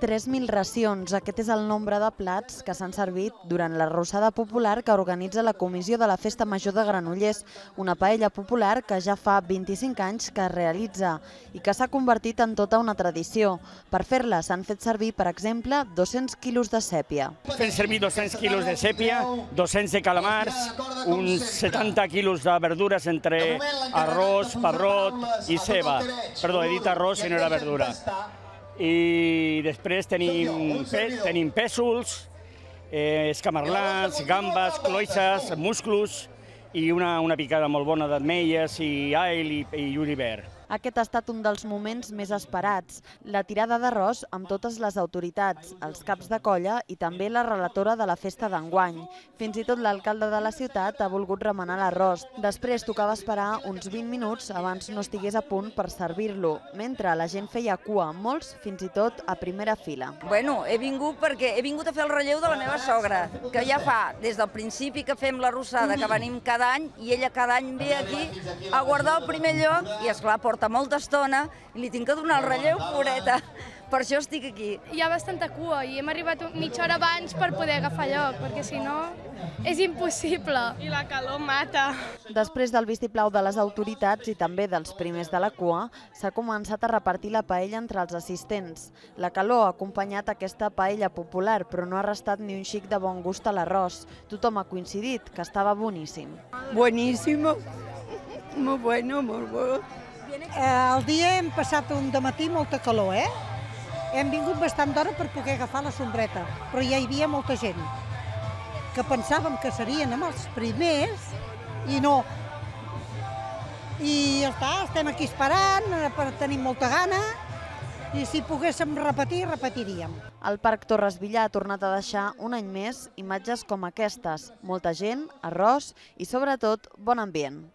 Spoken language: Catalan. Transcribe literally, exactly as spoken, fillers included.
tres mil racions. Aquest és el nombre de plats que s'han servit durant l'arrossada popular que organitza la Comissió de la Festa Major de Granollers, una paella popular que ja fa vint-i-cinc anys que es realitza i que s'ha convertit en tota una tradició. Per fer-la s'han fet servir, per exemple, dos-cents quilos de sèpia. Fem servir dos-cents quilos de sèpia, dos-cents de calamars, uns setanta quilos de verdures entre arròs, pebrot i ceba. Perdó, he dit arròs i no era verdura. I després tenim, tenim pèsols, eh, escamarlans, gambes, cloïsses, musclos i una, una picada molt bona d'ametlles i all i, i julivert. Aquest ha estat un dels moments més esperats, la tirada d'arròs amb totes les autoritats, els caps de colla i també la relatora de la festa d'enguany. Fins i tot l'alcalde de la ciutat ha volgut remenar l'arròs. Després tocava esperar uns vint minuts abans no estigués a punt per servir-lo, mentre la gent feia cua, molts fins i tot a primera fila. Bueno, he vingut perquè he vingut a fer el relleu de la meva sogra, que ja fa des del principi que fem l'arrossada, que venim cada any, i ella cada any ve aquí a guardar el primer lloc i, esclar, porta molta estona i li tinc que donar el relleu, pobreta. Per això estic aquí. Hi ha bastanta cua i hem arribat mitja hora abans per poder agafar lloc, perquè si no és impossible. I la calor mata. Després del vistiplau de les autoritats i també dels primers de la cua, s'ha començat a repartir la paella entre els assistents. La calor ha acompanyat aquesta paella popular, però no ha restat ni un xic de bon gust a l'arròs. Tothom ha coincidit que estava boníssim. Buenísimo, molt bueno, molt bo. El dia hem passat un dematí molta calor, eh? Hem vingut bastant d'hora per poder agafar la sombreta, però ja hi havia molta gent que pensàvem que serien amb els primers i no. I ja està, estem aquí esperant, tenim molta gana i si poguéssim repetir, repetiríem. El Parc Torres Villar ha tornat a deixar un any més imatges com aquestes. Molta gent, arròs i sobretot bon ambient.